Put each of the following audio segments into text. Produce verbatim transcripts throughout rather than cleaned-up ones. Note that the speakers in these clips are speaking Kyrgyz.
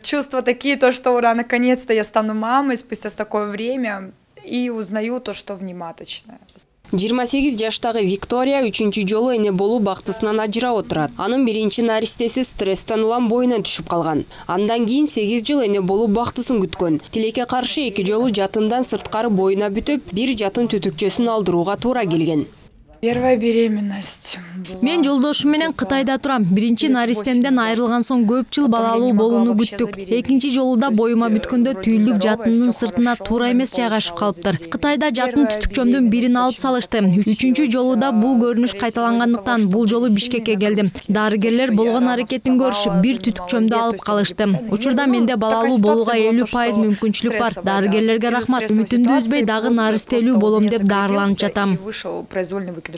Чувства такие, то, что ура, наконец-то я стану мамой спустя такое время и узнаю то, что внематочная. жыйырма сегиз жаштагы Виктория үчүнчү жолу эне болуу бактысынан ажырап отурат. Анын биринчи наристеси стресстен улам боюна түшүп калган. Андан кийин сегиз жыл эне болуу бактысын күткөн. Тилекке каршы эки жолу жатындан сырткары боюна бүтүп, бир жатын түтүкчөсүн алдырууга туура келген. Первая беременность. Мен жолдошум менен Кытайда турам. Биринчи наристемден айрылган соң көп жыл балалуу болууну күттүк. Экинчи жолу да боюма бүткөндө түйүлдүк жатындын сыртына туура эмес жайгашып калыптыр. Кытайда жатын түтүкчөмдүн бирин алып салышты. Үчүнчү жолу да бул көрүнүш кайталангандыктан бул жолу Бишкекке келдим. Дарыгерлер болгон аракетин көрүшүп, бир түтүкчөмдү алып калышты. Учурда менде балалуу болууга элүү пайыз мүмкүнчүлүк бар. Дарыгерлерге рахмат. Үмүтүмдү үзбөй дагы наристелүү болом деп даарыланып жатам.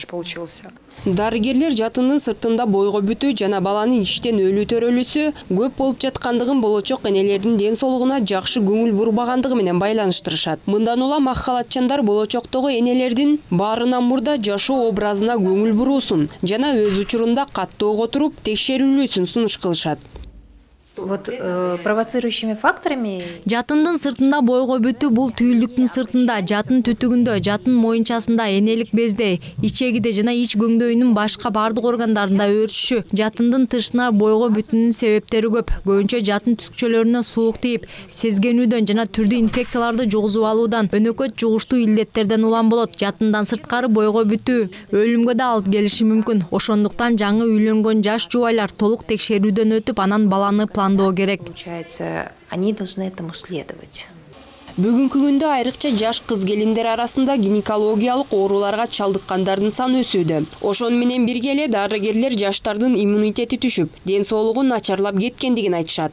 Получился. Дарыгерлер жатындын сыртында бойго бүтүү жана баланын иштен өлүү төрөлүүсү көп болуп жаткандыгын болочок энелердин ден соолугуна жакшы көңүл бурбагандыгы менен байланыштырышат. Мындан улам ак халатчандар болочоктогу энелердин баарынан мурда жашоо образына көңүл буруусун жана өз учурунда каттуу которуп текшерүүлүүсүн сунуш кылышат. Вот э, провоцирующими факторами жатындын сыртында бойго бүтүү бул түйүлдүктүн сыртында, жатын түтүгүндө, жатын моюнчасында, энелик безде, ичегиде жана ич көңдөйүнүн башка бардык органдарында өөрчүшү. Жатындын тышына бойго бүтүүнүн себептери көп. Көбүнчө жатын түтүкчөлөрүнө суук тийип, сезгенүүдөн жана түрдүү инфекцияларды жугузуп алуудан, өнөкөт жугуштуу илдеттерден улам болот. Жатындан сырткары бойго бүтүү өлүмгө да алып келиши мүмкүн. Ошондуктан жаңы үйлөнгөн жаш жубайлар толук текшерүүдөн өтүп, анан баланы Получается, они должны этому следовать. Бүгүнкү күндө айрыкча жаш кыз келиндер арасында гинекологиялык ооруларга чалдыккандардын саны өсүүдө. Ошону менен бирге эле дарыгерлер жаштардын иммунитети түшүп, ден соолугу начарлап кеткендигин айтышат.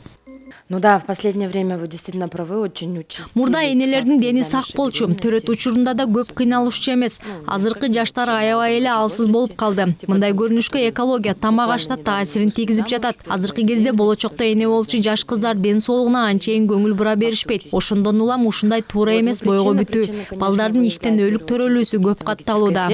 Ну да, в последнее время вы действительно правы, очень участились. Мурда энелердин дени сак болчу, төрөт учурунда да көп кыйналышчу эмес. Азыркы жаштар аябай эле алсыз болуп калды. Мындай көрүнүшкө экология, тамак ашта таасирин тийгизип жатат. Азыркы кезде болочокто эне болчу жаш кыздар ден соолугуна анчейин көңүл бура беришпейт. Ошондон улам ушундай туура эмес бойго бүтүү, балдардын иштен өлүк төрөлүүсү көп катталууда.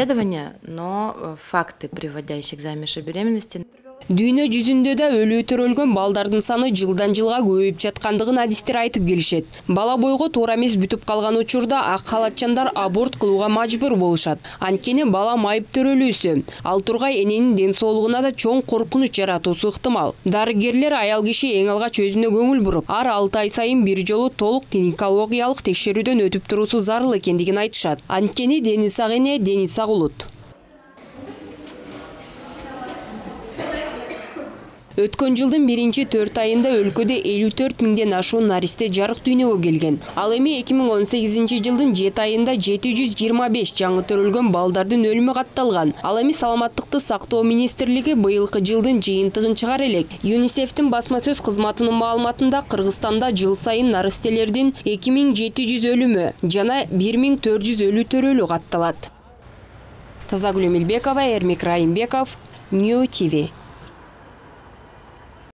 Но факты, приводящие к замеши беременности. Дүйнө жүзүндө да өлүү төрөлгөн балдардын саны жылдан жылга көбөйүп жаткандыгын адистер айтып келишет. Бала бойго туура эмес бүтүп калган учурда ак халатчандар аборт кылууга мажбур болушат. Анткени бала майып төрөлүүсү, ал тургай эненин ден соолугуна да чоң коркунуч жаратуусу ыктымал. Дарыгерлер аял киши эң алгач өзүнө көңүл буруп, ар алты ай сайын бир жолу толук гинекологиялык текшерүүдөн өтүп туруусу зарыл экендигин айтышат. Анткени дени сак эне дени сак улут. Өткөн жылдын биринчи төрт айында өлкөдө элүү төрт миңден ашуун наристе жарык дүйнөгө келген. Ал эми эки миң он сегизинчи жылдын жети айында жети жүз жыйырма беш жаңы төрөлгөн балдардын өлүмү катталган. Ал эми саламаттыкты сактоо министрлиги быйылкы жылдын жыйынтыгын чыгара элек. ЮНИСЕФтин басма сөз кызматынын маалыматында Кыргызстанда жыл сайын наристелердин эки миң жети жүз өлүмү жана бир миң төрт жүз өлүү төрөлүү катталат. Тазагүл Эмилбекова, Эрмик Райымбеков, Нью ТВ.